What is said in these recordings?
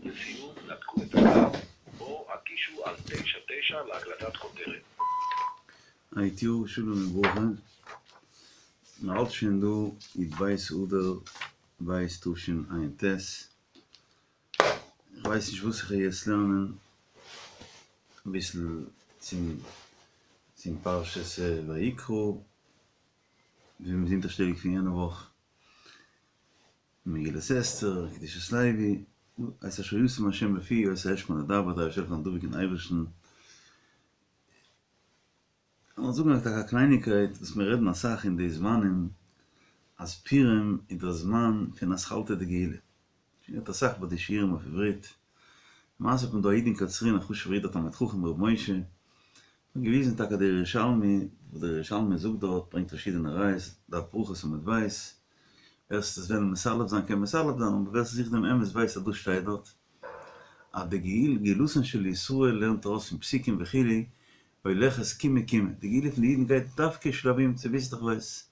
לסיום נתקו את הקו או הקישו על 99 להקלטת כותרת. היי שלום וברכה, מ'האלט שוין דא י"ב אדר ב' תשע"ט, איך ווייס נישט וואס איך וועל יעצט לערנען, אביסל צום צום פרשת ויקרא, ווי מ'איז אונטערשטעליג פון יענע וואך, מגילת אסתר, קדושת לוי, את אשר ישים השם בפי אותו אשמע לדבר, דער אייבערשטער זאל דבוק אין אייבערשטן. כ'וועל זאגן טאקע א קלייניקייט וואס מיר רעדן אסאך אין די זמנים, אז פורים איז דער זמן פון אתחלתא דגאולה. שוין געהערט אסאך ביי די שיעורים אויף עברית. למעשה האט מען דא א איד אין קצרין א חשוב'ער איד א תלמיד חכם ר' משה, האט געוויזן טאקע דער ירושלמי, וואס דער ירושלמי זאגט דארט, ברענגט פארשידענע ראיות, דף ברכות עמוד ב', ווער ס'וועט וועלן מסלף זיין קען מסלף זיין, אבער ווער ס'זוכט דעם אמת ווייסט אז דאס שטייט דארט, אז די גאולה גאולתן של ישראל לערנט ארויס פון פסוקים וכו', הולכת קימה קימה, די גאולה פון די אידן גייט דווקא שלבים צוביסלעכווייז,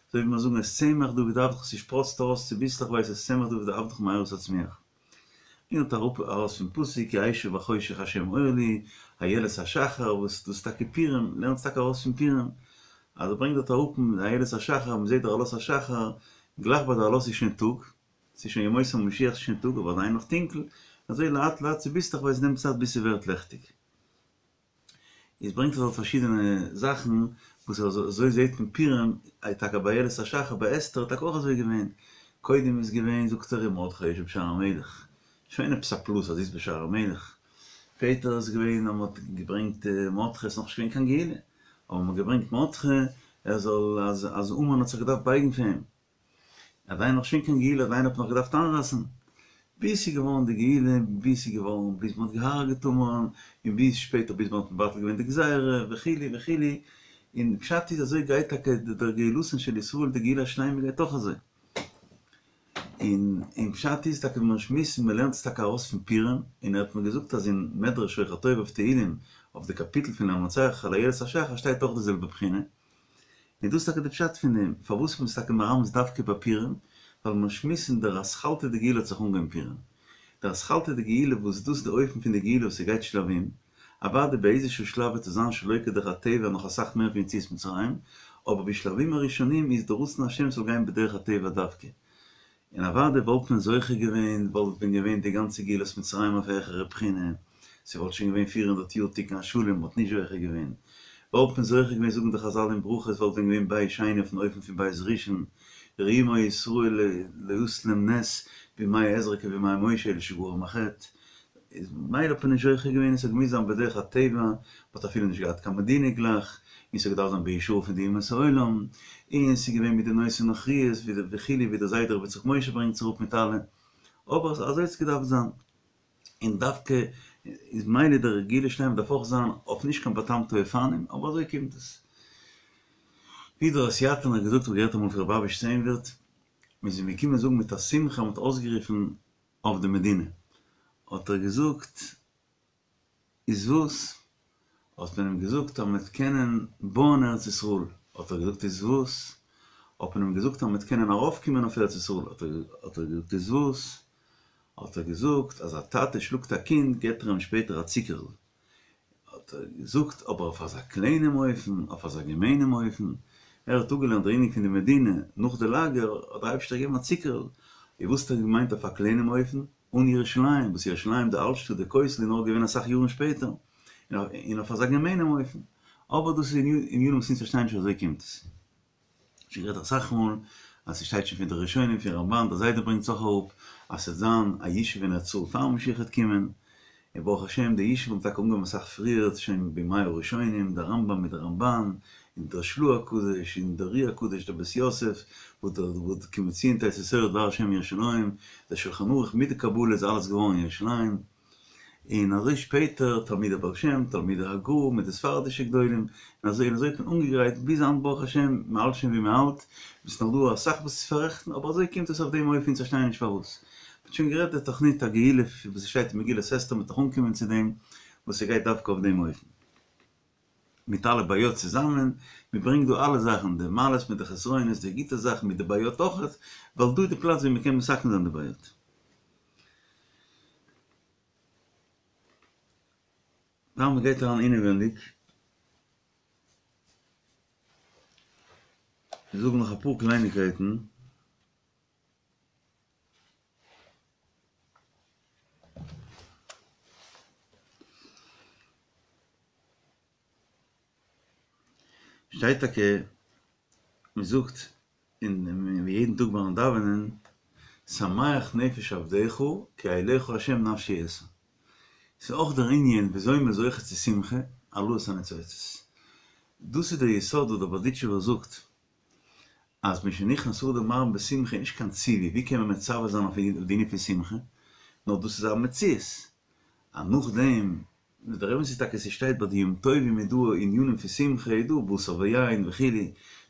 אזוי ווי מיר זאגן את צמח דוד עבדך ס'שפראצט ארויס צוביסלעכווייז את צמח דוד עבדך מהרה תצמיח. לערנט אראפ ארויס פון פסוק כי אשב בחושך השם אור לי, איילת השחר, וואס דאס איז טאקע פורים, לערנט טאקע ארויס פון פורים, אז ער ברענגט דארט אראפ איילת השחר, מען זעט דער עלות השחר, גלייך ביי די עלות איז שוין טאג, ס'איז שוין ימות המשיח ס'איז שוין טאג אבער עדיין נאך טונקל, אזוי לאט לאט צוביסלעכווייז נעמט צייט ביז ס'ווערט לעכטיג. איז ברענגט ער דארט פארשידענע זאכן וואס אזוי זעהט מען פורים איז טאקע ביי איילת השחר ביי אסתר איז טאקע אויך אזוי געווען, קודם איז געווען זאגט ער ומרדכי יושב בשער המלך, שוין עפעס א פלוס אז זי איז בשער המלך, שפעטער איז געווען אז מען האט געברענגט מרדכי עס איז נאכנישט געווען קיין גאולה אבער מען האט געברענגט מרדכי ער זאל אז אז המן האט זיך געדארפט בייגן פאר אים. עדיין נאך שוין קיין גאולה, עדיין האט מען נאך געדארפט איינרייסן, ביז ס'איז געווארן די גאולה, ביז ס'איז געווארן, ביז מ'האט געהארגעט המן, און ביז שפעטער ביז מ'האט מבטל געווען די גזירה, וכו' וכו', און פשט איז אזוי גייט טאקע דער גאולתן של ישראל, די גאולה השלימה גייט אויך אזוי. און און פשט איז טאקע ווי מיר שמועסן, מ'לערנט עס טאקע ארויס פון פורים, און ער האט מיר געזאגט אז אין מדרש שוחר טוב אויף תהלים, אויף די קאפיטל פון למנצח על איילת השחר שטייט אויך די זעלבע בחינה, און דאס איז טאקע די פשט פון דעם, פארוואס מ'איז טאקע מרמז דווקא ביי פורים, ווייל מיר שמועסן דער אתחלתא דגאולה האט זיך אנגעהויבן פורים. דער אתחלתא דגאולה וואס דאס די אופן פון די גאולה וואס ס'גייט שלבים, אוודאי באיזשהו שלב וועט עס זיין שלא כדרך הטבע נאך אסאך מער פון יציאת מצרים, אבער בשלבים הראשונים איז די רצון השם ס'זאל גיין בדרך הטבע דווקא. און אוודאי וואלט מען זוכה געווען, וואלט ווען געווען די גאנצע גאולת מצרים אויף א העכערע בחינה, ס'וואלט שוין געווען 400 יאר תיקון השלם, מ'וואלט נישט זוכה געווען. וואלט מען זוכה געווען זאגן די חזל אין ברכות וואלט ווען געווען בית שני אויפן אופן פון בית ראשון, ראו מה ישראל לא עשו להם נס בימי עזרא כבימי משה אלא שגרם החטא. איז ממילא האט מען נישט זוכה געווען, עס האט געמוזט זיין בדרך הטבע, מען האט אפילו נישט געהאט קיין מדינה גלייך, און ס'האט געדארפט זיין בהשראה פון די אומות העולם, און ס'איז געווען מיט די נושא נוכריות וכו' ווי דער זיידע רבי יצחק משה ברענגט עס אראפ מיט אלע, אבער אזוי האט עס געדארפט זיין, און דווקא איז ממילא דער גאולה שלימה דארף אויך זיין אויף נישט קיין באטאמטע אופנים, אבער אזוי קומט עס. ווי דער הוסיאטינער האט געזאגט, האב איך געהערט אמאל פון רבי אביש צעהנווירט, מען איז אים געקומען זאגן מיט א שמחה אז מען האט אויסגערופן אויף די מדינה, האט ער געזאגט, איז וואס? האט מען אים געזאגט אז מ'וועט קענען בויען ארץ ישראל, האט ער געזאגט איז וואס? האט מען אים געזאגט אז מ'וועט קענען ארויפקומען אויף ארץ ישראל, האט ער געזאגט איז וואס? האט ער געזאגט אז א טאטע שלאגט א קינד געבט ער אים שפעטער א צוקערל, האט ער געזאגט אבער אויף אזא קליינעם אופן, אויף אזא געמיינעם אופן, ער האט אפגעלערנט דער ענין פון די מדינה נאך די לאגער, האט דער אייבערשטער געגעבן א צוקערל, און וואס האט ער געמיינט אויף א קליינעם אופן? אן ירושלים, וואס ירושלים די אלטשטאט די כותל איז נאר געווען אסאך יארן שפעטער, און אויף אזא געמיינעם אופן, אבער דאס איז ענינים וואס אונז פארשטייען נישט אזוי קומט עס. שוין גערעדט אסאך מאל אז ס'שטייט שוין פון די ראשונים פון רמבן, דער זיידע ברענגט עס אויך אראפ, אז ס'וועט זיין א ישוב אין ארץ ישראל פאר משיח וועט קומען, און ברוך השם די ישוב האט טאקע אנגעהויבן אסאך פריער, שוין בימי הראשונים, דער רמבם מיט דער רמבן, און דער של"ה הקדוש, און דער אר"י הקדוש, דער בית יוסף, וואס כי מציון תצא תורה ודבר השם מירושלים, דער שלחן ערוך מיט די קבלה איז אלעס געווארן אין ירושלים. און אזוי שפעטער תלמידי בעל שם, תלמידי הגר"א מיט די ספרדישע גדולים, און אזוי און אזוי האט מען אנגעגרייט ביז היינט ברוך השם, מען האלט שוין ווי מען האלט, עס איז נאך דא אסאך וואס צו פאררעכטן, אבער אזוי קומט עס אויף דעם אופן, אונז פארשטייען נישט פארוואס. מען האט שוין גערעדט די תוכנית הגאולה וואס עס שטייט אין מגילת אסתר, מען וועט נאך אנקומען צו דעם, וואס ס'גייט דווקא אויף דעם אופן. מיט אלע בעיות צוזאמען, מען ברענגט דא אלע זאכן, די מעלות מיט די חסרונות, די גוטע זאכן מיט די בעיות אויכעט, ווייל דא איז די פלאץ ווי מען קען מתקן זיין די בעיות. פאר מען גייט אריין אינעווענדיג, זאגן נאך אפאר קלייניקייטן. שטייט טאקע, מען זאגט אין יעדן טאג ביים דאווענען, שמח נפש עבדך כי אליך ה' נפשי אשא. ס'איז אויך דער ענין וויאזוי מ'איז זוכה צו שמחה, העלאת הניצוצות. דאס איז דער יסוד וואס דער בארדיטשובער זאגט, אז משנכנס אדר מרבין בשמחה איז נישט קיין ציווי, ווי קען מען מצווה זיין אויף די ענין פון שמחה, נאר דאס איז א מציאות, אז נאכדעם דער אמת איז טאקע ס'שטייט ביי די יום טובים איז דא ענינים פון שמחה איז דא בשר ויין וכו',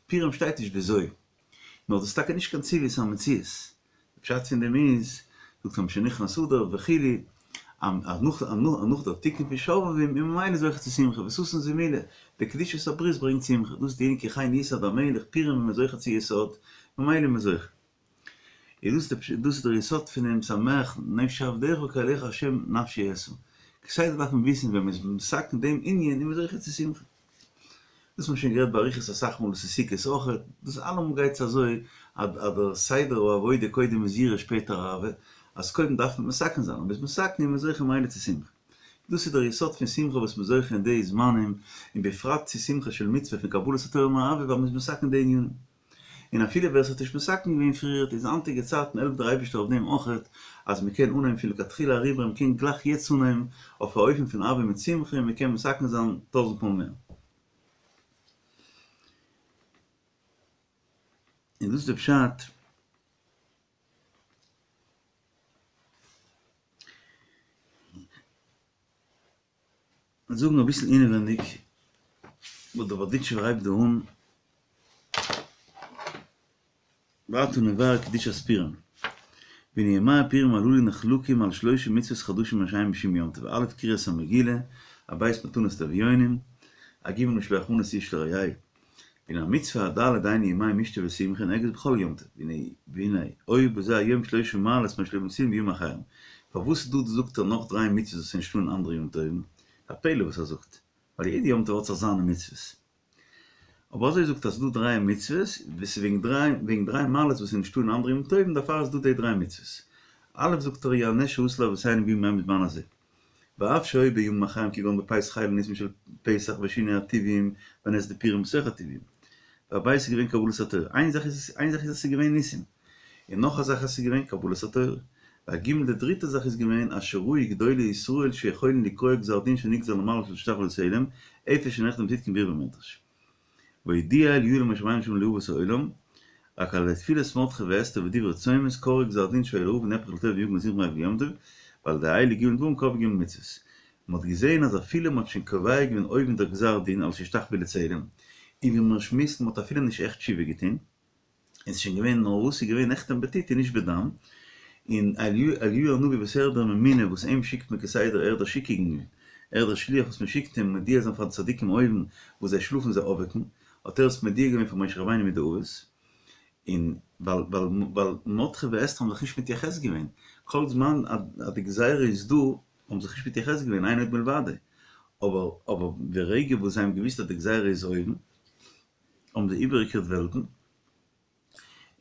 פורים שטייט נישט וויאזוי, נאר דאס איז טאקע נישט קיין ציווי ס'איז א מציאות, די פשט פון דעם איז, זאגט ער משנכנס אדר וכו', אז נאך נאך דער תיקון פון שובבים איז ממילא זוכה צו שמחה וששון זמילה, די קדושת הברית ברענגט שמחה, דאס איז די ענין כי כן יסעד המלך, פורים איז מען זוכה צו יסוד, ממילא איז מען זוכה. איז דאס די דאס איז דער יסוד פונעם שמח נפש עבדך כי אליך ה' נפשי אשא. כסדר דארף מען וויסן ווען מען איז מתקן דעם ענין איז מען זוכה צו שמחה. דאס האט מען שוין גערעדט באריכות אסאך מאל, דאס איז סוכות אויכעט, דאס אלעמאל גייט עס אזוי אז דער סדר העבודה קודם איז יראה שפעטער אהבה, אז קודם דארף מען מתקן זיין, אויב מ'איז מתקן איז מען זוכה ממילא צו שמחה. דאס איז דער יסוד פון שמחה וואס מ'איז זוכה אין די זמנים, און בפרט צו שמחה של מצוה פון קבלת התורה מאהבה ווייל מ'איז מתקן די ענינים. און אפילו ווער ס'האט נישט מתקן געווען פריערט איז היינטיגע צייטן העלפט דער אייבישטער אויף דעם אויכעט אז מ'קען אנהייבן פון לכתחילה אריבער און מ'קען גלייך יעצט אנהייבן אויף א אופן פון אהבה מיט שמחה און מ'קען מתקן זיין טויזנט מאל מער. און דאס איז די פשט. זאגן אביסל אינעווענדיג וואס דער בארדיטשובער הייבט דא אן, ועתה נבאר קדושת פורים, והנה ימי הפורים הללו נחלקים על שלשה מצוות חדשים מה שאין בשום יום טוב, א' קריאת המגילה, הב' מתנות לאביונים, הג' משלוח מנות איש לרעהו. והנה המצוה הד' דהיינו ימי משתה ושמחה נוהגת בכל יום טוב, והנה היו בזה היום שלשה מעלות מה שלא מצינו בימים אחרים, פארוואס דא זאגט ער נאך דריי מצוות וואס איז נישטא אין אנדערע יום טובים, א פלא וואס ער זאגט, ווייל יעדע יום טוב האט זיך זיינע מצוות. אבער אזוי זאגט ער אז ס'דא דריי מצוות, וואס איז וועגן דריי וועגן דריי מעלות וואס איז נישטא אין אנדערע יום טובים דערפאר איז דא די דריי מצוות. א' זאגט ער היא הנס שעשו לאבותינו בימים ההם בזמן הזה. ואף שהיו בימים אחרים כגון בפסח אלו ניסים של פסח ושינוי הטבעיים ונס דפורים בתוך הטבעיים. והב' איז געווען קבלת התורה. איין זאך איז איין זאך איז אז ס'איז געווען ניסים. און נאך א זאך אז ס'איז געווען קבלת התורה. והג' די דריטע זאך איז געווען אז שראו גדולי ישראל שיכולין לקרוע גזר דין שנגזר למעלה שישתחוו לצלם, איפה שנחתם צדקי מבואר במדרש. והודיע אליהו למשה רבינו שלום לאבות העולם, רק על ידי תפילת מרדכי ואסתר ודברי צומות קרעו גזר דין שהיה לרעה ונהפך לטוב ויגון לשמחה מעבר ליום טוב, ועל ידי אלו ג' דברים קבעו ג' מצוות. מען האט געזען אז אפילו מען האט שוין קובע געווען אויבן דער גזר דין על שישתחוו לצלם, און ווי מיר שמועסן מען האט אפילו נישט עכט תשובה געטון, און ס'איז שוין געווען נאר וואס ס'איז געווען נחתם בטיט און נישט בדם, און אליהו הנביא וואס ער איז דער ממונה וואס אים שיקט מען כסדר ער איז דער שיקונג ער איז דער שליח וואס מען שיקט אים מודיע זיין פאר די צדיקים אויבן וואס זיי שלאפן זיי אויפוועקן, האט ער עס מודיע געווען פאר משה רבינו מיט די אבות, און ווייל ווייל ווייל מרדכי ואסתר האבן זיך נישט מתייחס געווען, כל זמן אז די גזירה איז דא האבן זיך נישט מתייחס געווען אין עוד מלבדו, אבער אבער די רגע וואס זיי האבן געוואוסט אז די גזירה איז אויבן, האבן זיי איבערגעקערט וועלטן,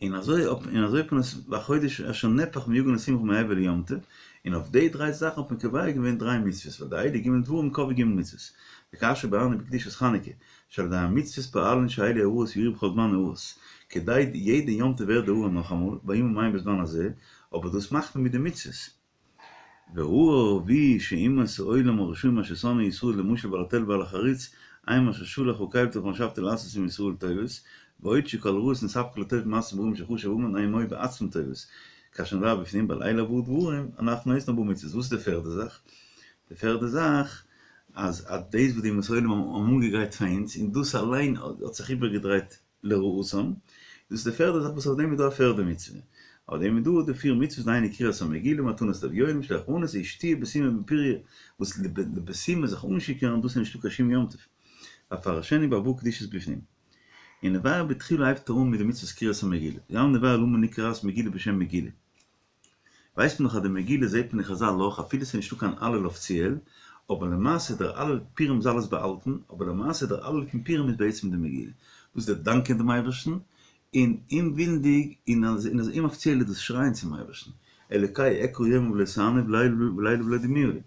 און אזוי און אזוי האט מען עס בחודש אשר נהפך מיגון לשמחה מעבר ליום טוב, און אויף די דריי זאכן האט מען קובע געווען דריי מצוות, ועל ידי אלו ג' דברים קבעו ג' מצוות, וכאשר ביארנו בקדושת חנוכה, שעל ידי המצוות פועלין שאלו הארות יאירו בכל זמן הארות, כדי יעדע יום טוב ווערט די הארה נאכאמאל, בימים ההם בזמן הזה, אבער דאס מאכט מען מיט די מצוות. והאור הרביעי שאומות העולם הרשעים אשר שנאו ישראל למשל בעל התל ובעל החריץ הם אשר שלח הקל בתוך מחשבתו לעשות עם ישראל טובות ועוד שכל הרעות נתהפכו לטוב במעשים רעים שחשב המן הם היו בעצמם טובות כאשר נבאר בפנים ועל אלו ארבעה דברים אנחנו עושים ארבע מצוות וואס איז די פערדע זאך? די פערדע זאך אז אז דאס וואס די אומות העולם האבן אנגעגרייט פאר אונז און דאס אליין האט זיך איבערגעדרייט לרעתם, דאס איז די פערדע זאך וואס אויף דעם איז דא א פערדע מצוה. אויף דעם איז דא די פיר מצוות דהיינו קריאת המגילה, מתנות לאביונים, משלוח מנות, ושתייה בסומא בפוריא, וואס לבסומי זיך אנשיכור'ן דאס איז נישטא קיין שום יום טוב. ואפרשנו בארבעה קדושות בפנים. און נבאר בתחילה הייבט ער אן מיט די מצוות קריאת המגילה. גם נבאר למה נקראת מגילה בשם מגילה. ווייסט מען דאך אז די מגילה זעט מען אין חזל אויך אפילו ס'איז נישטא קיין הלל אפיציעל, אבער למעשה דער הלל פורים איז אלעס באהאלטן, אבער למעשה דער הלל פון פורים איז בעצם די מגילה, דאס איז דער דאנקען דעם אייבערשטן, און אומווילנדיג און אז אומאפיציעל איז דאס שרייען צום אייבערשטן, אלוקי אקרא יומם ולא תענה ולילה ולא דומיה לי.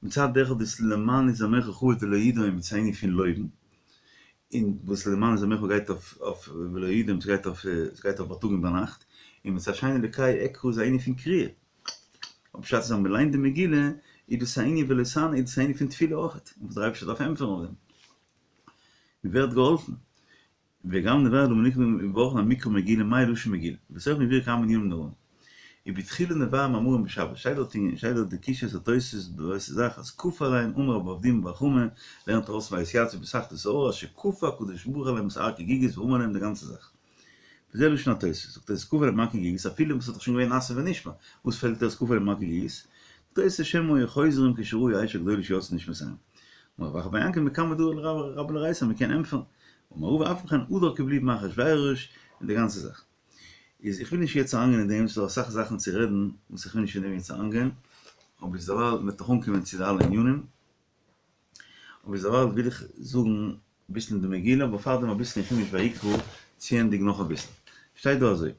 מצד אחד איז למען יזמרך כבוד ולא ידום איז א ענין פון לויבן, און וואס למען יזמרך גייט אויף ולא ידום ס'גייט אויף ס'גייט אויף בייטאג און ביינאכט, און מצד שני אלוקי אקרא איז א ענין פון קריאה, אבער פשט איז אז מ'ליינט די מגילה איז דאס א ענין ולא תענה איז דאס א ענין פון תפילה אויכעט, וואס דער אייבערשטער דארף ענטפערן אויף דעם, מ'ווערט געהאלפן. וגם נבאר למה נקרא מברכין על מקרא מגילה מאי לשון מגילה, ובתוכן יבוארו כמה ענינים נוראים. ובתחילה נבאר מאמרים בשבת, שטייט דארט אין שטייט דארט די קושיות התוס' באותה זאך אז כפה עליהם אמר רב אבדימי בר חמא לערנט ארויס ויתיצבו בתחתית ההר אשר כפה הקדוש ברוך הוא עליהם את הר כגיגית ואמר להם די גאנצע זאך. וזה לשון התוס', זאגט תוס' כפה עליהם הר כגיגית אפילו וואס האט דאך שוין געווען נעשה ונשמע, וואס פעלט אויס כפה עליהם הר כגיגית? זאגט תוס' שמא היו חוזרים כשראו אש הגדולה שיצאה נשמותיהם. אמר רב אחא בר יעקב מקמי דרבה לריסא מ'קען ענטפערן אמר רבא אף על פי כן הדר קיבלוהו מאחשוורוש און די גאנצע זאך. איז איך וויל נישט יעצט אריינגיין אין דעם, ס'איז דא אסאך זאכן צו רעדן וואס איך וויל נישט אין דעם יעצט אריינגיין, אבער ביזדערווייל מ'וועט נאך אנקומען צו די אלע ענינים, אבער ביזדערווייל וויל איך זאגן אביסל אין די מגילה, אבער פארדעם אביסל אין חומש ויקרא, צוענדיגן נאך אביסל. שטייט דא אזוי.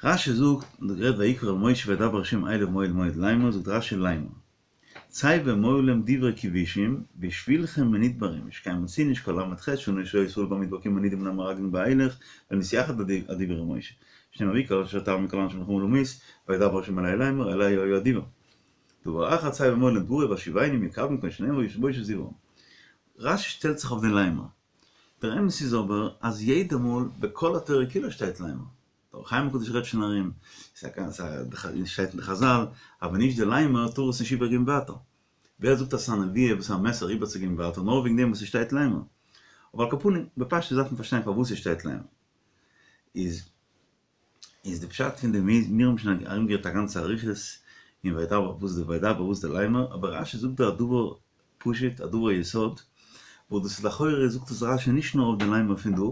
רשי זאגט, מ'האט גערעדט ויקרא אל משה וידבר ה' אליו מאוהל מועד לאמר, זאגט רשי לאמר. צא ואמור להם דברי כבושים, בשבילכם מנודברים, שכן מצינו שכל ל"ח שנה שהיו ישראל במדבר כמנודים מן המרגלים ואילך, לא נתייחד הדיבור עם משה. שנאמר ויהי כאשר תעבור מכל אנשי המלחמה למות, וידבר ה' אלי לאמר, אלי היה הדיבור. דבר אחר צא ואמור להם דברי והשיבני יקוין כמו שנאמר וישב בושת זבעם. רשי שטעלט זיך אויף דעם לאמר. דער אמת איז אבער אז יעדע מאל בכל התורה כולה שטייט לאמר. דער אור החיים הקדוש רעדט שוין ארום, ס'שטייט אין די חזל, אז ווען נישט די לאמר טאר עס נישט איבערגעבן ווייטער. ווער זאגט אז ס'איז א נבואה וואס איז א מסר איבערצוגעבן ווייטער נאר וועגן דעם וואס ס'שטייט לאמר? אבער על כל פנים, בפשטות דארף מען פארשטיין פארוואס ס'שטייט לאמר. איז איז די פשט פון דעם איז, מיר האבן שוין ארומגערעדט א גאנצע אריכות אין וידבר וואס די וידבר וואס די לאמר, אבער רשי זאגט דא א דבר פשוט, א דבר יסוד, וואס דאס איז לכאורה זאגט עס רשי נישט נאר אויף די לאמר פון דא,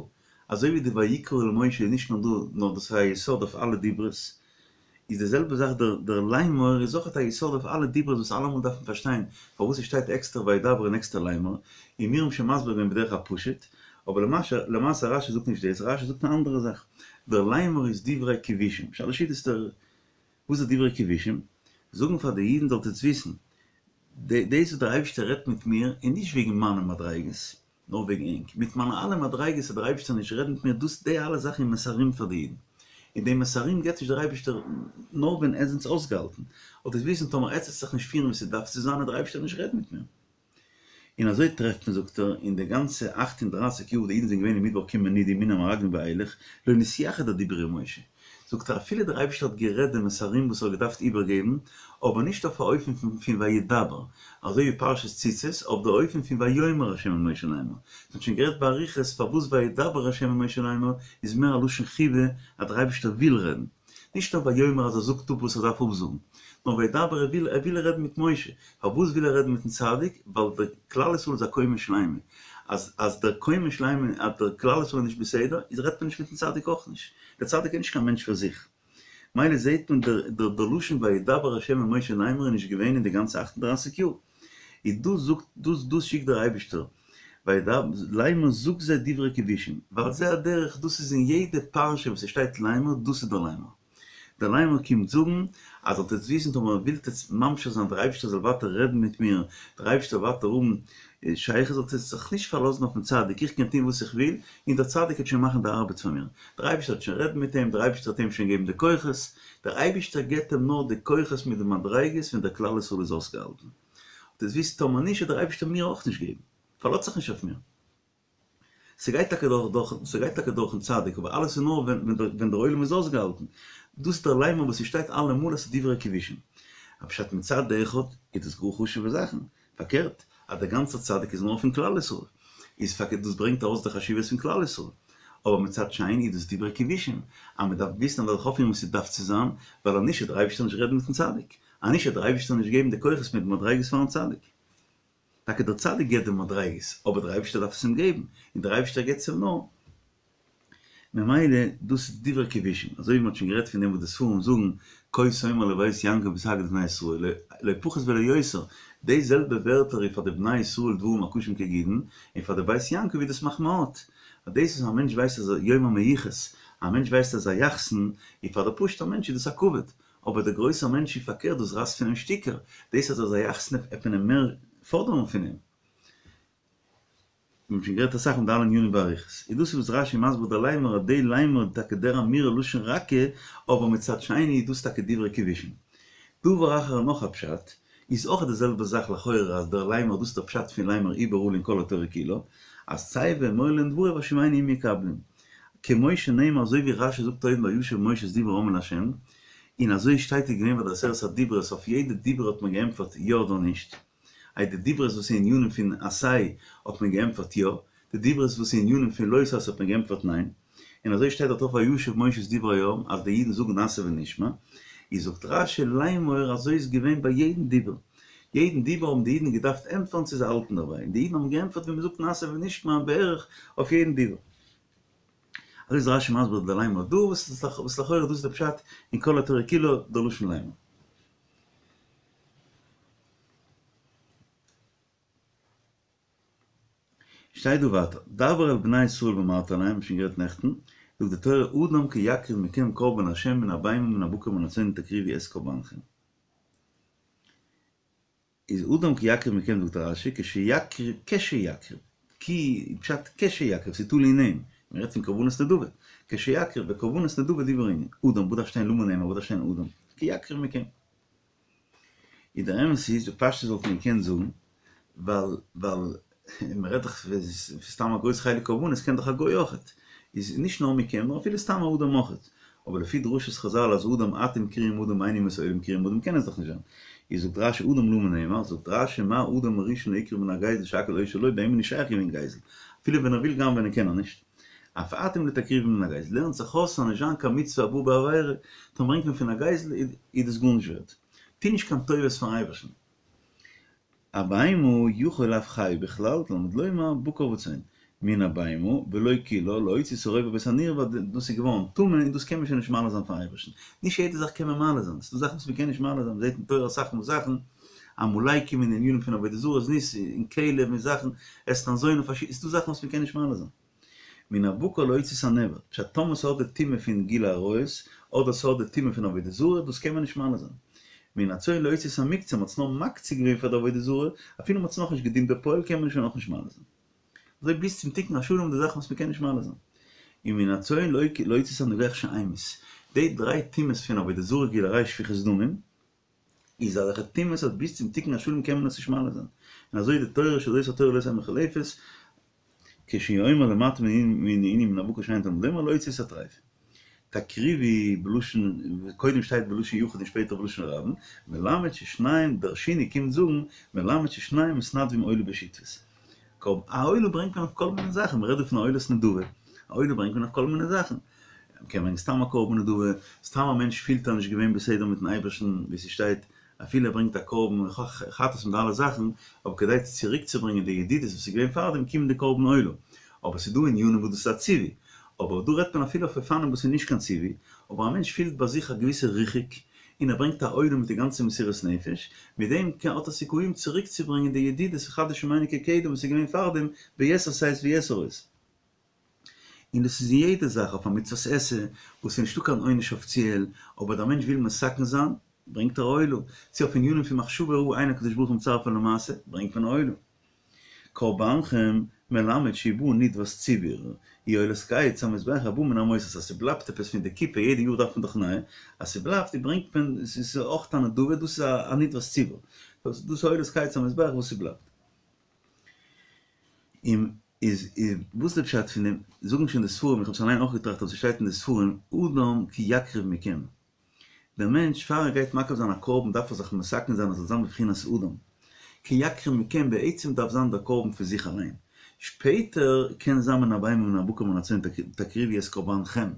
אזוי ווי די ויקרא אל משה איז נישט נאר דא, נאר דאס איז א יסוד אויף אלע דיברות, איז די זעלבע זאך דער דער לאמר איז אויכעט א יסוד אויף אלע דיברות וואס אלעמאל דארף מען פארשטיין פארוואס עס שטייט עקסטער וידבר און עקסטער לאמר, און מיר האבן שוין מסביר געווען בדרך הפשוט, אבער למעשה למעשה רשי זאגט נישט דאס, רשי זאגט אן אנדערע זאך, דער לאמר איז דברי כבושים, שלש סעודות דער וואס איז דברי כבושים? זאגן פאר די אידן זאלט עטס וויסן, דאס וואס דער אייבערשטער רעדט מיט מיר איז נישט וועגן מיינע מדריגות, נאר וועגן ענק. מיט מיינע אלע מדריגות וועט דער אייבערשטער נישט רעדן מיט מיר, דאס די אלע זאכן איז מסרים פאר די אידן. און די מסרים געבט נישט דער אייבערשטער נאר ווען עטס זענטס אויסגעהאלטן. זאלט עטס וויסן טאמער עטס וועט זיך נישט פירן ווי ס'דארף צו זיין וועט דער אייבערשטער נישט רעדן מיט מיר. און אזוי טרעפט מען זאגט ער, אין די גאנצע אכט און דרייסיג יאר וואס די אידן זענען געווען אין מדבר כמנודים מן המרגלים ואילך, לא נתייחד הדיבור עם משה. זאגט ער אפילו דער אייבערשטער האט גערעדט די מסרים וואס ער האט געדארפט איבערגעבן, אבער נישט אויף א אופן פון וידבר, אזוי ווי פרשת ציצית, אויף די אופן פון ויאמר ה' אל משה לאמר. מ'האט שוין גערעדט באריכות פארוואס וידבר ה' אל משה לאמר איז מער א לשון חיבה אז דער אייבערשטער וויל רעדן. נישט נאר ויאמר אז ער זאגט אפ וואס ער דארף אפזאגן, נאר וידבר ער וויל ער וויל רעדן מיט משה. פארוואס וויל ער רעדן מיטן צדיק? ווייל דער כלל ישראל איז א קומה שלימה, אז אז דער קומה שלימה אז דער כלל ישראל איז נישט בסדר, איז רעדט מען נישט מיטן צדיק אויך נישט, דער צדיק איז נישט קיין מענטש פאר זיך. מילא זעהט מען דער דער דער לשון וידבר ה' אל משה לאמר איז נישט געווען אין די גאנצע אכט און דרייסיג יאר. איז דאס זאגט דאס דאס שיקט דער אייבישטער וידבר לאמר זאג זיי דברי כבושים, ועל זה הדרך דאס איז אין יעדע פרשה וואס עס שטייט לאמר דאס איז דער לאמר. דער לאמר קומט זאגן אז זאלט עטס וויסן טאמער ווילט עטס ממשיך זיין דער אייבערשטער זאל ווייטער רעדן מיט מיר, דער אייבערשטער זאל ווייטער האבן שייכות, זאלט עטס זיך נישט פארלאזן אויפן צדיק, איך קען טון וואס איך וויל, און דער צדיק וועט שוין מאכן די ארבעט פאר מיר, דער אייבערשטער וועט שוין רעדן מיט אים, דער אייבערשטער וועט אים שוין געבן די כוחות, דער אייבערשטער געבט אים נאר די כוחות מיט די מדריגות ווען דער כלל ישראל איז אויסגעהאלטן. זאלט עטס וויסן טאמער נישט וועט דער אייבערשטער מיר אויך נישט געבן, פארלאזט זיך נישט אויף מיר. ס'גייט טאקע דורך דורך ס'גייט טאקע דורכן צדיק אבער אלעס איז נאר ווען ווען דער עולם איז אויסגעהאלטן. דאס איז דער לאמר וואס ס'שטייט אלעמאל אז ס'איז דברי כבושים. א פשט מצד אחד איז דאס גאר חשוב'ע זאכן, פארקערט אז דער גאנצער צדיק איז נאר פון כלל ישראל איז פארקערט דאס ברענגט ארויס די חשיבות פון כלל ישראל. אבער מצד שני איז דאס דברי כבושים אז מ'דארף וויסן אז מ'דארף זיך אויפפירן ווי ס'דארף צו זיין ווייל אז נישט וועט דער אייבערשטער נישט רעדן מיטן צדיק. אז נישט וועט דער אייבערשטער נישט געבן די כוחות מיט די מדריגות פארן צדיק. טאקע דער צדיק געבט די מדריגות, אבער דער אייבערשטער דארף עס אים געבן, און דער אייבערשטער געבט עס אים נאר. ממילא דאס איז דברי כבושים, אזוי ווי מען האט שוין גערעדט פון דעם וואס די ספרים זאגן, כה תאמר לבית יעקב ותגיד לבני ישראל, לא פחות ולא יותר, די זעלבע ווערטער איז פאר די בני ישראל דברים הקשים כגידין, און פאר די בית יעקב איז דאס מחמאות. אז דאס וואס א מענטש ווייסט אז יום המיוחס, א מענטש ווייסט אז א יחסן, איז פאר די פשוטע מענטש איז דאס א כבוד, אבער דער גרויסער מענטש איז פארקערט דאס רייסט פון אים שטיקער, דאס אז ער איז א יחסן עט מען אים מער פאדערן פון אים. מיר האבן שוין גערעדט אסאך פון די אלע ענינים באריכות, איז דאס וואס רש"י מסביר די לאמר אז די לאמר איז טאקע דער אמירה לשון רכה, אבער מצד שני איז דאס טאקע דברי כיבושין. דבר אחר נאך א פשט, איז אויך די זעלבע זאך לכאורה אז דער לאמר דאס איז דער פשט פון לאמר איבעראל אין כל התורה כולה, אז צא ואמור להם דברי והשיבני אם יקבלום. כמו שנאמר אזוי ווי רש"י זאגט אויבן וישב משה את דברי העם אל ה', און אזוי שטייט איז געווען ביי די עשרת הדיברות אויף יעדע דיבור האט מען געענטפערט יא אדער נישט. איי די דיברות וואס איז ענינים פון עשה האט מען געענטפערט יא, די דיברות וואס איז ענינים פון לא תעשה האט מען געענטפערט ניין, און אזוי שטייט דארט אויך וישב משה את דברי העם אז די אידן זאגן נעשה ונשמע, איז זאגט רש"י לאמר אזוי איז געווען ביי יעדן דיבור, יעדן דיבור האבן די אידן געדארפט ענטפערן צו זיי האלטן דערביי, און די אידן האבן געענטפערט ווי מען זאגט נעשה ונשמע בערך אויף יעדן דיבור. אזוי איז רש"י מסביר די לאמר דא, וואס לכאורה דאס איז די פשט אין כל התורה כולה די לשון לאמר. שטייט דא ווייטער, דבר אל בני ישראל ואמרת אליהם, שוין גערעדט נעכטן, זאגט די תורה אדם כי יקריב מכם קרבן לה' מן הבהמה מן הבקר מן הצאן תקריבו את קרבנכם. איז אדם כי יקריב מכם זאגט רש"י כשיקריב כשיקריב, כי פשט כשיקריב ס'איז תלוי אין אים, מ'רעדט פון קרבנות נדבה, כשיקריב וקרבנות נדבה דיבור הענין, אדם וואס דארף שטיין למה נאמר וואס דארף שטיין אדם, כי יקריב מכם. איז דער אמת איז בפשטות וואלט מען געקענט זאגן ווייל ווייל מען רעדט דאך פון סתם א גרויס חלק קרבנות קען דאך א גוי אויכעט, איז נישט נאר מכם נאר אפילו סתם א אדם אויכעט, אבער לפי דרשת חז"ל אז אדם אתם קרויים אדם ואין אומות העולם קרויים אדם קען עס דאך נישט זיין, איז זאגט רש"י אדם למה נאמר, זאגט רש"י מה אדם הראשון לא הקריב מן הגזל שהכל היו שלו ביי אים איז נישט שייך געווען גזל אפילו ווען ער וויל גנב'ענען קען ער נישט, אף אתם לא תקריבו מן הגזל, לערנט זיך אויס ס'זאל נישט זיין קיין מצוה הבאה בעבירה, טאמער ברענגט מען פון א גזל איז דאס גארנישט ווערט. טו נישט קיין טובות פארן אייבערשטן. א בהמה יכול אף חי בכלל, תלמוד לומר, בקר וצאן. מן הבהמה, ולא כולה, להוציא את הרובע ואת הנרבע, דאס איז געווארן טמא און דאס קען מען שוין נישט מעלה זיין פארן אייבערשטן. נישט יעדע זאך קען מען מעלה זיין, ס'דא זאכן וואס מ'קען נישט מעלה זיין, מ'זעט אין תורה אסאך מאל זאכן, עמלקים און ענינים פון עבודה זרה, זנות און כלב און זאכן, אתנן זונה, ס'דא זאכן וואס מ'קען נישט מעלה זיין. מן הבקר להוציא את הנאבד, פשט טאמער ס'האט די טומאה פון גילוי עריות, אדער ס'האט די טומאה פון עבודה זרה, דאס קען מען נישט מעלה זיין. מן הצאן להוציא את המוקצה, מ'האט עס נאר מקצה געווען פאר די עבודה זרה, אפילו מ'האט עס נאכנישט געדינט בפועל קען מען עס שוין אויך נישט מעלה זיין. אזוי ביז צום תיקון השלם די זאכן וואס מ'קען נישט מעלה זיין. און מן הצאן להוציא את הנוגח שהמית. די דריי טומאות פון עבודה זרה גילוי עריות שפיכות דמים, איז אזעלכע טומאות אז ביז צום תיקון השלם קען מען עס נישט מעלה זיין. און אזוי די תורה שזאת התורה לא תהא מוחלפת, כשהוא אומר למעט מן הענין מן הבקר שאין תלמוד לומר להוציא את הטריפה. תקריבו בלשון, קודם שטייט בלשון יחיד און שפעטער בלשון רבים, מלמד ששניהם דרשיני קומט זאגן, מלמד ששניהם מתנדבים עולה בשותפות. א עולה ברענגט מען אויף כל מיני זאכן, מ'רעדט דא פון א עולת נדבה, א עולה ברענגט מען אויף כל מיני זאכן. מ'קען ברענגען סתם א קרבן נדבה, סתם א מענטש פילט ער נישט געווען בסדר מיטן אייבערשטן, ווי ס'שטייט אפילו ער ברענגט א קרבן חטאת מיט אלע זאכן, אבער כדי צוריקצוברענגען די ידידות וואס איז געווען פארדעם קומט די קרבן עולה. אבער ס'איז דא ענינים וואס דאס איז א ציווי. אבער דא רעדט מען אפילו אויף אופנים וואס איז נישט קיין ציווי, אבער א מענטש פילט ביי זיך א געוויסע ריחוק, און ער ברענגט א עולה מיט די גאנצע מסירות נפש, מיט דעם האט ער סיכויים צוריקצוברענגען די ידידות וחדש שמנו כקדם וואס איז געווען פארדעם ביתר שאת ויתר עוז. און דאס איז אין יעדע זאך, אויף א מצוות עשה וואס איז נישטא קיין עונש אפיציעל, אבער דער מענטש וויל מתקן זיין, ברענגט ער א עולה, צו אויף ענינים פון מחשבה רעה אין הקדוש ברוך הוא מצרפה למעשה, ברענגט מען א עולה. קרבנכם מלמד שהיא באה נדבת ציבור, היא עולת קיץ המזבח הבאה מן המותר, אז ס'בלייבט עפעס פון די קופה, יעדע יאר דארף מען דאך נייע, אז ס'בלייבט ברענגט מען, ס'איז אויך א נדבה, דאס איז א נדבת ציבור, דאס איז עולת קיץ המזבח וואס ס'בלייבט. און איז וואס איז די פשט פון דעם? זאגן שוין די ספרים, איך האב עס אליין אויך געטראכט אבער ס'שטייט אין די ספרים, אדם כי יקריב מכם. דער מענטש פאר ער גייט מקריב זיין א קרבן דארף ער זיך מתקן זיין ער זאל זיין בבחינת אדם. כי יקריב מכם בעצם דארף זיין דער קרבן פון זיך אליין. שפעטער קען זיין מן הבהמה מן הבקר מן הצאן תקריבו את קרבנכם.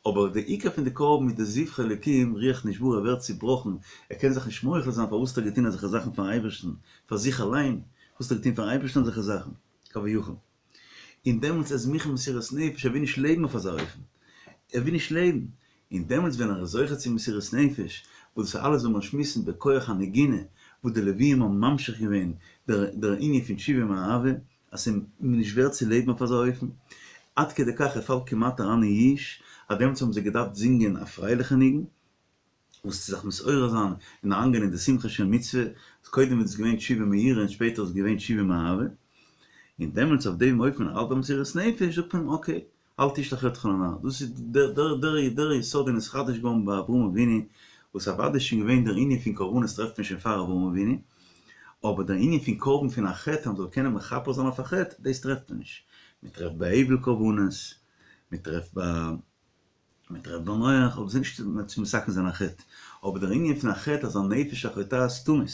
אבער די עיקר פון די קרבן איז די זבחי אלקים ריח נשברה ער ווערט צובראכן ער קען זיך נישט מוחל זיין פארוואס האט ער געטון אזעלכע זאכן פארן אייבערשטן פאר זיך אליין וואס האט ער געטון פארן אייבערשטן אזעלכע זאכן כביכול. און דעמאלטס איז מוכן מסירת נפש, ער וויל נישט לעבן אויף אזא אופן, ער וויל נישט לעבן. און דעמאלטס ווען ער איז זוכה צו מסירות נפש, וואס דאס איז אלעס ווען מיר שמועסן בכח הנגינה, וואס די לוויים האבן ממשיך געווען דער דער ענין פון תשובה מאהבה, אז ס'איז נישט ווערט צו לעבן אויף אזא אופן, עד כדי כך ער פאלט כמעט אריין אין יאוש, אז דעמאלטס האבן זיי געדארפט זינגען א פרייליכע ניגון, וואס צו זיך מתעורר זיין און אריינגיין אין די שמחה של מצוה, קודם איז עס געווען תשובה מיראה און שפעטער איז געווען תשובה מאהבה, און דעמאלטס אויף דעם אופן ער האלט ביי מסירות נפש זאגט מען אים אקעי, אל תשלח ידך לנער, דאס איז דער דער דער יסוד און נתחדש געווארן ביי אברהם אבינו, וואס אוודאי איז שוין געווען דער ענין פון קרבנות טרעפט מען שוין פאר אברהם אבינו, אבער דער ענין פון קרבן פון א חטא אז מען זאל קענען מכפר זיין אויף א חטא, דאס טרעפט מען נישט, מען טרעפט ביי הבל קרבנות, מען טרעפט ביי. מען טרעפט ביי נח, אבער ס'איז נישט צו מתקן זיין א חטא, אבער דער ענין פון א חטא אז א נפש החוטאת תמות,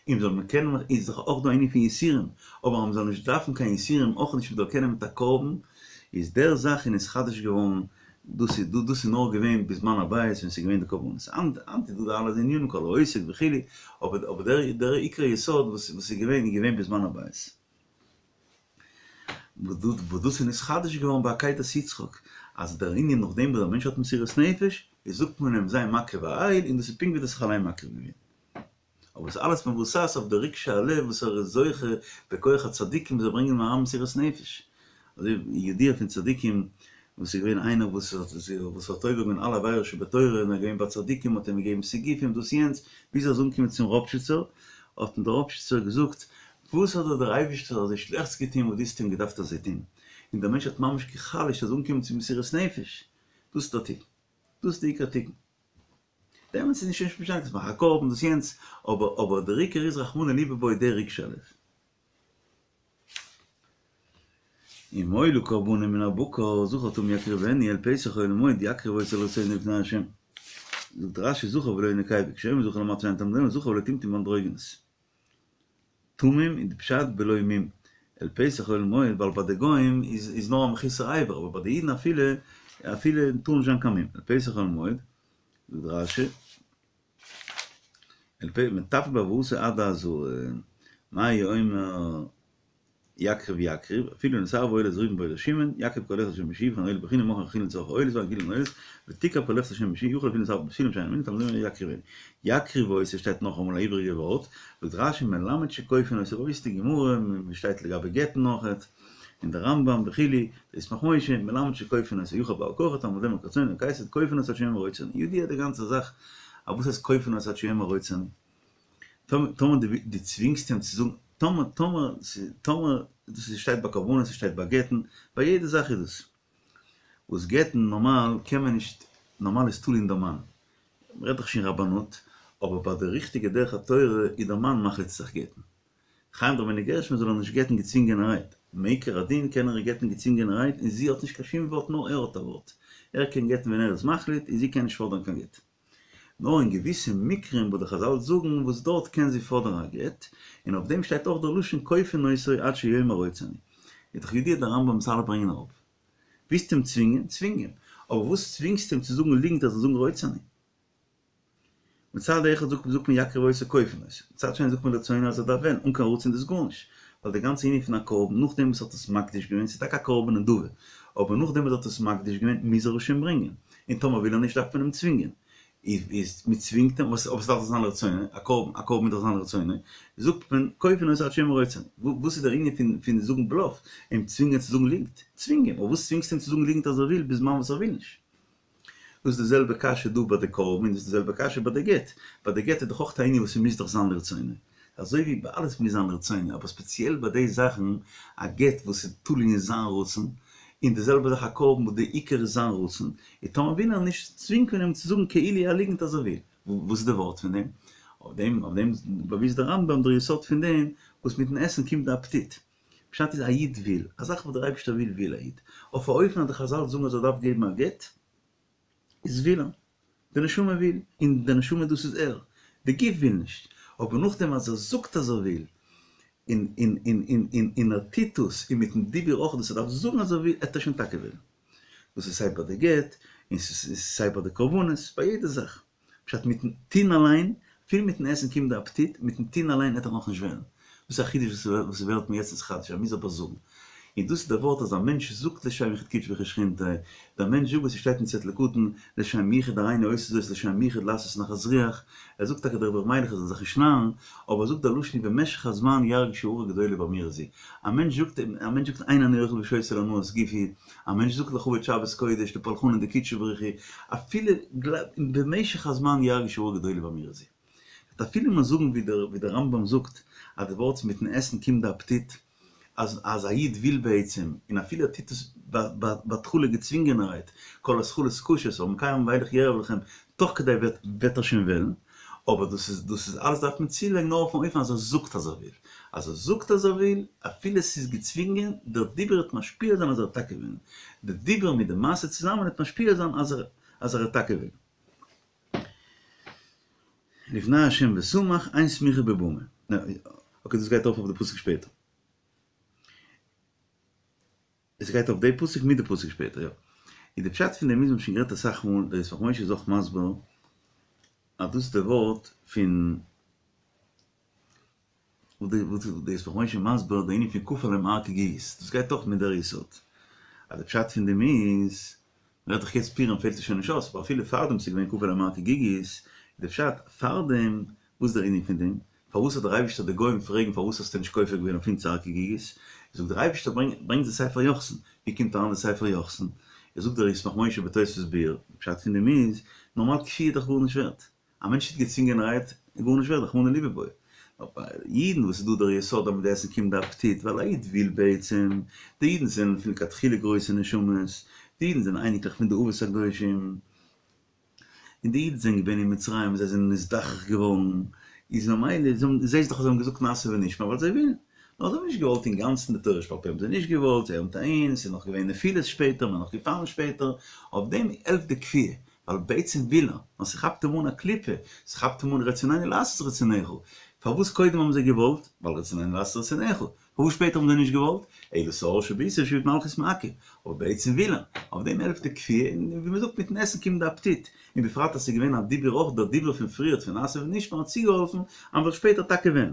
און זאל מען קענען, איז דאך אויך דא א ענין פון יסורים, אבער אז מען זאל נישט דארפן קיין יסורים אויך נישט מען זאל קענען מיט א קרבן, איז דער זאך איז נתחדש געווארן, דאס איז דאס איז נאר געווען בזמן הבית ווען ס'איז געווען די קרבנות, היינט היינט איז דא די אלע ענינים כל העוסק וכו', אבער אבער דער דער עיקר יסוד וואס וואס איז געווען איז געווען בזמן הבית. וואס דאס איז נתחדש געווארן ביי עקידת יצחק, אז דער ענין נאכדעם וואס דער מענטש האט מסירות נפש, איז זאגט מען אים זיי מקריב א איל, און דאס איז פונקט ווי דו האסט זיך אליין מקריב געווען. אבער עס איז אלעס מבוסס אויף די רגשי הלב וואס ער איז זוכה בכח הצדיקים וואס זיי ברענגען אים אריין מסירות נפש. אזוי ווי ידוע פון צדיקים וואס איז געווען איינער וואס וואס האט עובר געווען אלע עבירות שבתורה און ער איז געווען ביי צדיקים האט אים געגעבן סיגופים דאס יענץ ביז ער איז אנגעקומען צום ראפשיצער האט אים דער ראפשיצער געזאגט וואס האט דיר דער אייבישטער אזוי שלעכטס געטון וואס דו האסט אים געדארפט אזוי טון און דער מענטש האט ממש גע'חלש'ט ער איז אנגעקומען צו מסירות נפש דאס איז דער תיקון דאס איז די עיקר תיקון דעמאלטס איז נישט משנה קענסט מאכן א קרבן דאס יענץ אבער אבער דער עיקר איז רחמנא ליבא בעי דער רגשי הלב. אם עולה קרבנו מן הבקר, זכר תמים יקריבנו, אל פתח אוהל מועד יקריב אותו לרצונו לפני ה'. זאגט רש"י זכר ולא נקבה, כשאומר זכר למטה שאין תלמוד לומר זכר ולא טומטום ואנדרוגינוס. תמים איז די פשט בלא מום. אל פתח אוהל מועד ווייל ביי די גוים איז איז נאר א מחוסר אבר אבער ביי די אידן אפילו אפילו טאר נישט זיין קיין מום. אל פתח אוהל מועד, זאגט רש"י, אל פ מטפל בהבאתו עד העזרה, מה הוא אומר יקריב יקריב, אפילו נתערבה עולת ראובן בעולת שמעון, יקריב כל אחד לשם אישי, וכן עולה בחינם ומוכרה חולין לצורך העולות ואין חולין עולות, ותקרב כל אחד לשם אישי, יכול אפילו נתערבה בתפילין שאינן מין, תלמוד לומר יקריבנו. יקריב אותו שטייט נאכאמאל א איבעריגע ווארט, זאגט רש"י מלמד שכופין אותו, באוואוסטע גמרא, ווי שטייט לגבי גט'ן אויכעט, און דער רמב"ם וכו', דער ישמח משה, מלמד שכופין אותו, יכול בעל כרחו תלמוד לומר כרצונו כיצד כופין אותו עד שיאמר רוצה אני, ידוע די גאנצע זאך, א וואס הייסט כופין אותו עד שיאמר רוצה אני? טאמער דו צווינגסט אים צו זאגן, טאמער, טאמער, טאמער, דאס איז שטייט ביי קרבנות, ס'שטייט ביי גט'ן, ביי יעדע זאך איז דאס. וואס גט'ן נארמאל קען מען נישט, נארמאל איז תלוי אין דער מאן, מ'רעדט דאך שוין רבנות, אבער ביי די ריכטיגע דרך התורה איז דער מאן מחליט זיך גט'ן. חיים רבינו גרשום זאל ער נישט גט'ן געצווינגענערהייט, מעיקר הדין קען ער איר גט'ן געצווינגענערהייט און זי האט נישט קיין שום ווארט נאר ער האט א ווארט, ער קען גט'ן ווען ער איז מחליט און זי קען נישט פאדערן קיין גט. נאר אין געוויסע מקרים וואס די חז"ל זאגן וואס דארט קען זי פאדערן א גט, און אויף דעם שטייט אויך דער לשון כופין אותו עד שיאמר רוצה אני. איז דאך ידוע דער רמב"ם וואס אלע ברענגען אראפ. ווילסט אים צווינגען, צווינג אים. אבער וואס צווינגסטו אים צו זאגן ליגנט אז ער זאל זאגן רוצה אני? מצד אחד זאגט זאגט מען יקריב אותו כופין אותו, מצד שני זאגט מען לרצונו אז ער דארף וועלן, אן קיין רצון איז דאס גארנישט, ווייל די גאנצע ענין פון א קרבן נאכדעם וואס ער האט עס מקדיש געווען, ס'איז טאקע א קרבן נדבה, אבער נאכדעם וואס ער האט עס מקדיש געווען מוז ער עס שוין ברענגען, און טאמער וויל ער נישט דארף מען אים צווינגען, איז מען צווינגט אים, אבער ס'דארף דאך זיין לרצונו, א קרבן א קרבן מוז דאך זיין לרצונו, זאגט מען כופין אותו עד שיאמר רוצה אני, וואס איז דער ענין פון פון זאגן בלאף, אים צווינגען צו זאגן ליגנט, צווינג אים, אבער וואס צווינגסטו אים צו זאגן ליגנט אז ער וויל בזמן וואס ער וויל נישט? דאס איז די זעלבע קשיא דא ביי די קרבן און דאס איז די זעלבע קשיא ביי די גט. ביי די גט איז דאך אויך א ענין וואס ס'מוז דאך זיין לרצונו. אזוי ווי ביי אלעס מוז זיין לרצונו, אבער ספעציעל ביי די זאכן, א גט וואס איז תלוי אין זיין רצון, און די זעלבע זאך א קרבן וואס די עיקר איז זיין רצון, און טאמער וויל ער נישט, צווינגט מען אים צו זאגן כאילו א ליגנט אז ער וויל. וואס איז די ווארט פון דעם? אויף דעם אויף דעם באוויזט דער רמב"ם דער יסוד פון דעם וואס מיטן עסן קומט די אפעטיט. פשט איז א איד וויל, א זאך וואס דער אייבערשטער וויל וויל א איד, אויף א אופן אז די חז"ל זאגן אז ער דארף געבן א גט, איז וויל ער, די נשמה וויל, און די נשמה דאס איז ער, די גוף וויל נישט, אבער נאכדעם אז ער זאגט אז ער וויל, און און און און און און ער טוט דאס, און מיטן דיבור אויך דאס ער דארף זאגן אז ער וויל, עט ער שוין טאקע וועלן. דאס איז סיי ביי די גט, און ס'איז סיי ביי די קרבנות, ביי יעדע זאך. פשט מיטן טוהן אליין, אפילו מיטן עסן קומט די אפעטיט, מיטן טוהן אליין עט ער נאכנישט וועלן. דאס איז א חידוש וואס ס'ווערט מיר יעצט נתחדש, ער מוז אבער זאגן. און דאס איז דער ווארט אז א מענטש זאגט לשם יחוד קודשא בריך הוא ושכינתיה, דער מענטש זאגט וואס ס'שטייט אין צעטל קטן, לשם יחוד הריני עושה זאת לשם יחוד לעשות נחת רוח, ער זאגט טאקע דער רבי ר' מיילעך ער זאל זיך נישט נארן, אבער ער זאגט דער לשון ובמשך הזמן ירגיש הארה גדולה באמירה זו, א מענטש זאגט א מענטש זאגט אין אני אוכל ושותה להנאת גופי, א מענטש זאגט לכבוד שבת קודש לפולחנא דקודשא בריך הוא, אפילו במשך הזמן ירגיש הארה גדולה באמירה זו. וועט אפילו מען זאגן ווי דער ווי דער רמב"ם זאגט אז די ווארט מיטן עסן קומט די אפעטיט, אז אז א איד וויל בעצם, און אפילו ער טוט עס בהתחלה געצווינגענערהייט, כל התחלות קשות, אבער מכאן ואילך יערב לכם, תוך כדי וועט וועט ער שוין וועלן, אבער דאס איז דאס איז אלעס דארף מען צולייגן נאר אויפן אופן אז ער זאגט אז ער וויל, אז ער זאגט אז ער וויל, אפילו עס איז געצווינגען, דער דיבור וועט משפיע זיין אז ער וועט טאקע וועלן, די דיבור מיט די מעשה צוזאמען וועט משפיע זיין אז ער אז ער וועט טאקע וועלן. לפני ה' ושמח, אין סמיכה בבמה. אקעי דאס גייט ארויף אויף די פסוק שפעטער. עס גייט אויף די פסוק מיט די פסוק שפעטער יא. און די פשט פון דעם איז מ'האט שוין גערעדט אסאך מאל, דער ישמח משה איז אויך מסביר אז דאס איז די ווארט פון וואס דער ישמח משה מסביר די ענין פון כפה עליהם הר כגיגית, דאס גייט אויך מיט דער יסוד, אז די פשט פון דעם איז, מ'רעדט דאך יעצט פורים פעלט עס שוין נישט אויס, אבער אפילו פארדעם ס'איז געווען כפה עליהם הר כגיגית, איז די פשט פארדעם, וואס איז דער ענין פון דעם? פארוואס האט דער אייבישטער די גוים פרעגן פארוואס האסטו נישט כופה געווען אויף אונז הר כגיגית, זאגט דער אייבישטער ברענג די ספר יוחסין, ווי קומט אריין די ספר יוחסין? איז זאגט דער ישמח משה בתוספות ביאור, די פשט פון דעם איז, נארמאל כפי' איז דאך גארנישט ווערט, א מענטש טוט געצווינגענערהייט איז גארנישט ווערט, רחמנא ליבא בעי. נאר ביי אידן וואס איז דא דער יסוד אז מיט די עסן קומט די אפעטיט, ווייל א איד וויל בעצם, די אידן זענען פון לכתחילה גרויסע נשמות, די אידן זענען אייניקלעך פון די אבות הקדושים, און די אידן זענען געווען אין מצרים און זיי זענען נזדכך געווארן, איז ממילא, זעהסט דאך אז זיי האבן געזאגט נעשה ונשמע ווייל זיי ווילן, נאר זיי האבן נישט געוואלט אינגאנצן די תורה שבעל פה האבן זיי נישט געוואלט, זיי האבן טענות, ס'איז נאך געווען נפילות שפעטער, מ'איז נאך געפאלן שפעטער, אויף דעם העלפט די כפייה, ווייל בעצם וויל ער, נאר ס'כאפט אים אן א קליפה, ס'כאפט אים אן רצוננו לעשות רצונך, פארוואס קודם האבן זיי געוואלט? ווייל רצוננו לעשות רצונך, פארוואס שפעטער האבן זיי נישט געוואלט? אלא שאור שבעיסה שעבוד מלכיות מעכב, אבער בעצם וויל ער, אויף דעם העלפט די כפייה, און ווי מ'זאגט מיטן עסן קומט די אפעטיט, און בפרט אז ס'איז געווען א דיבור אויך, דער דיבור פון פריערט פון נעשה ונשמע האט צוגעהאלפן אז מ'זאל שפעטער טאקע וועלן.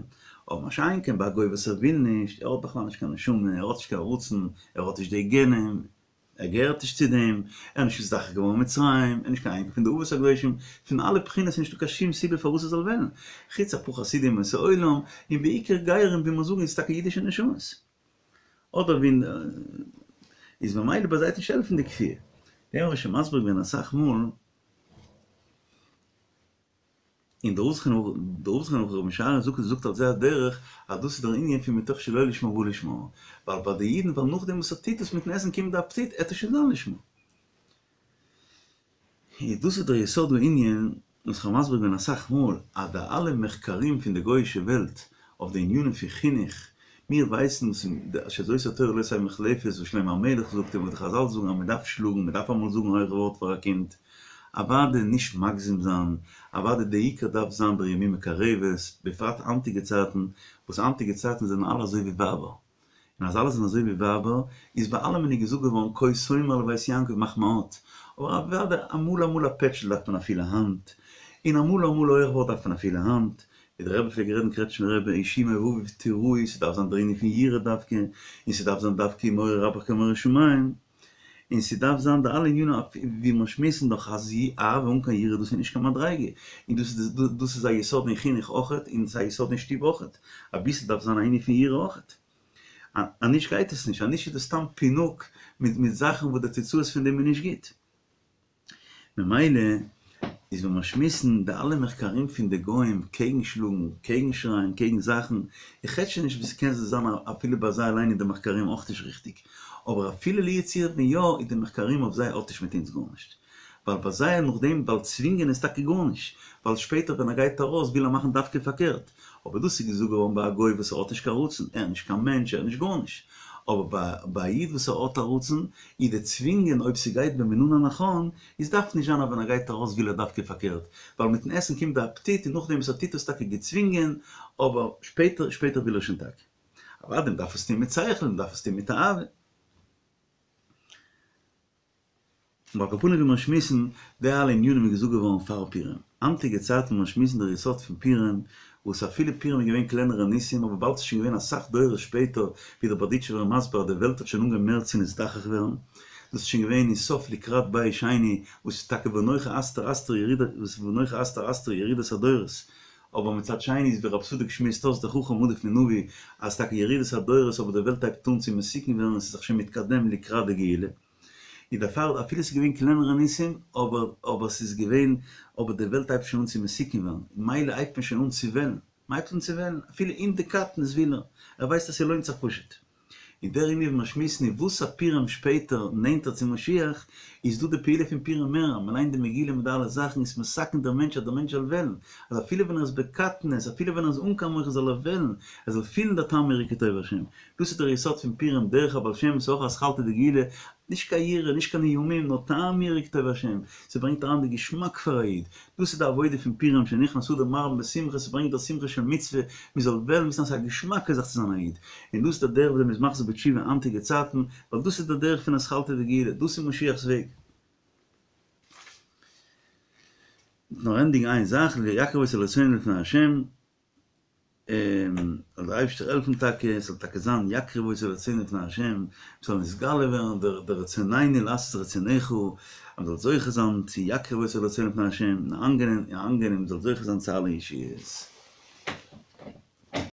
אבער מה שאין כן ביי א גוי וואס ער וויל נישט, ער האט בכלל נישט קיין נשמה, ער האט נישט קיין רצון, ער האט נישט די גענען, ער געהערט נישט צו דעם, ער איז נישט נזדכך געווארן אין מצרים, ער איז נישט קיין אייניקל פון די אבות הקדושים, פון אלע בחינות איז נישטא קיין שום סיבה פארוואס ער זאל וועלן, חוץ אפאר חסידים אומות העולם, און בעיקר גרים ווי מיר זאגן איז טאקע אידישע נשמות. אדער ווי איז ממילא ביי זיי וועט נישט העלפן די כפייה. דעם האב איך שוין מסביר געווען אסאך מאל. און דער רב זכרונו לברכה רבי משריה זאגט זאגט על זה הדרך אז דאס איז דער ענין פון מתוך שלא לשמה בא לשמה, ווייל ביי די אידן ווייל נאכדעם וואס ער טוט עס מיטן עסן קומט די אפעטיט עט עס שוין זיין לשמה. און דאס איז דער יסוד הענין וואס כ'האב מסביר געווען אסאך מאל אז די אלע מחקרים פון די גויאישע וועלט אויף די ענינים פון חינוך, מיר ווייסן וואס שזאת התורה לא תהא מוחלפת וואס שלמה המלך זאגט און וואס די חזל זאגן אז מ'דארף שלאגן, מ'דארף אמאל זאגן א הויכע ווארט פאר א קינד, אוואדע נישט מגזים זיין, אוואדע די עיקר דארף זיין דער ימין מקרבת, בפרט היינטיגע צייטן, וואס היינטיגע צייטן זענען אלע אזוי ווי ווייבער, און אז אלע זענען אזוי ווי ווייבער, איז ביי אלעמען איז געזאגט געווארן כה תאמר לבית יעקב מאך מעט, אבער אוואדע אמאל אמאל א פעטשל דארף מען א פילע האנט, און אמאל אמאל א הויך ווארט דארף מען א פילע האנט, ווי דער רבי פלעגט רעדן קרעטשמער רבי השימו אביו תיראו, ס'דארף זיין דער ענין פון יראה דווקא, און ס'דארף זיין דווקא מורא רבך כמורא שמים. און ס'דארף זיין די אלע ענינים ווי מיר שמועסן דאך אז אהבה אן קיין יראה דאס איז נישט קיין מדריגה, און דאס איז דאס איז א יסוד אין חינוך אויכעט און ס'איז א יסוד אין שטוב אויכעט, אביסל דארף זיין א ענין פון יראה אויכעט, אנישט גייט עס נישט, אנישט איז דאס סתם פינוק מיט מיט זאכן וואס די תוצאות פון דעם איז נישט גוט. ממילא איז ווען מיר שמועסן די אלע מחקרים פון די גוים קעגן שלאגן, קעגן שרייען, קעגן זאכן, איך רעד שוין נישט ווי ס'קען זיין אפילו ביי זיי אליין איז די מחקרים אויך נישט ריכטיג, אבער אפילו לו יצויר ווען יא איז די מחקרים אויף זיי האט נישט מיט אונז גארנישט. ווייל ביי זיי נאכדעם ווייל צווינגען איז טאקע גארנישט, ווייל שפעטער ווען ער גייט ארויס וויל ער מאכן דווקא פארקערט, אבער דאס איז געזאגט געווארן ביי א גוי וואס ער האט נישט קיין רצון, ער איז נישט קיין מענטש, ער איז נישט גארנישט. אבער ביי א איד וואס ער האט א רצון, איז די צווינגען אויב ס'גייט במינון הנכון, איז דארף נישט זיין אז ווען ער גייט ארויס וויל ער דווקא פארקערט, ווייל מיטן עסן קומט די אפעטיט און נאכדעם וואס ער טוט עס טאקע געצווינגען, אבער שפעטער שפעטער וויל ער שוין טאקע. אוודאי מ'דארף עס טון מיט שכל, מ'דארף עס טון מיט אהבה. אבער על כל פנים ווי מיר שמועסן, די אלע ענינים איז געזאגט געווארן פאר פורים. היינטיגע צייטן ווען מיר שמועסן דער יסוד פון פורים, וואס אפילו פורים איז געווען קלענערע ניסים אבער באלד ס'איז שוין געווען אסאך דורות שפעטער ווי דער בארדיטשובער איז מסביר אז די וועלט האט שוין אנגעהויבן מער צו נזדכך ווערן, דאס איז שוין געווען אין סוף לקראת בית שני וואס איז טאקע ואנכי הסתר אסתיר ירידת וואס איז ואנכי הסתר אסתיר ירידת הדורות, אבער מצד שני איז ווי רב צדוק שמועסט אויס דער חכם עדיף מנביא אז טאקע ירידת הדורות אבער די וועלט הייבט אן צו מתוקן ווערן און ס'איז זיך שוין מתקדם לקראת די גאולה. איז דערפאר אפילו ס'איז געווען קלענערע ניסים אבער אבער ס'איז געווען אבער די וועלט הייבט שוין אן צו מתוקן ווערן מילא הייבט מען שוין אן צו וועלן מ'הייבט אן צו וועלן אפילו אין די קטנות וויל ער ער ווייסט אז ס'לוינט זיך פשוט און דער ענין ווי מיר שמועסן איז וואס א פורים שפעטער נענטער צו משיח איז דא די פעולה פון פורים מער אז מ'ליינט די מגילה מיט די אלע זאכן איז מתקן דער מענטש אז דער מענטש זאל וועלן אז אפילו ווען ער איז בקטנות אפילו ווען ער איז אן קיין מוחין זאל ער וועלן ער זאל פילן דער טעם יראה כי טוב השם דאס איז דער יסוד פון פורים דרך הבעל שם ס'איז אויך אתחלתא דגאולה, נישט קיין יראה, נישט קיין איומים, נאר טעם יראה כי טוב השם, ס'ברענגט אריין די געשמאק פאר א איד, דאס איז די עבודה פון פורים שנכנס אדר מרבין בשמחה, ס'ברענגט דער שמחה של מצוה, מ'זאל וועלן וויסן אז ס'איז א געשמאקע זאך צו זיין א איד, און דאס איז דער דרך ווי אזוי מ'איז מחזיר בתשובה היינטיגע צייטן, ווייל דאס איז דער דרך פון אתחלתא דגאולה, דאס איז משיח'ס וועג. נאר ענדיגן איין זאך, יקרב אותו לרצונו לפני השם. זאל דער אייבערשטער העלפן טאקע עס זאל טאקע זיין יקרב אותו לרצונו לפני השם, עס זאל נתגלה ווערן דער דער רצוננו לעשות רצונך, אז מען זאל זוכה זיין צו יקרב אותו לרצונו לפני השם, און אנגענעם און אנגענעם מען זאל זוכה זיין צו אלע ישועות.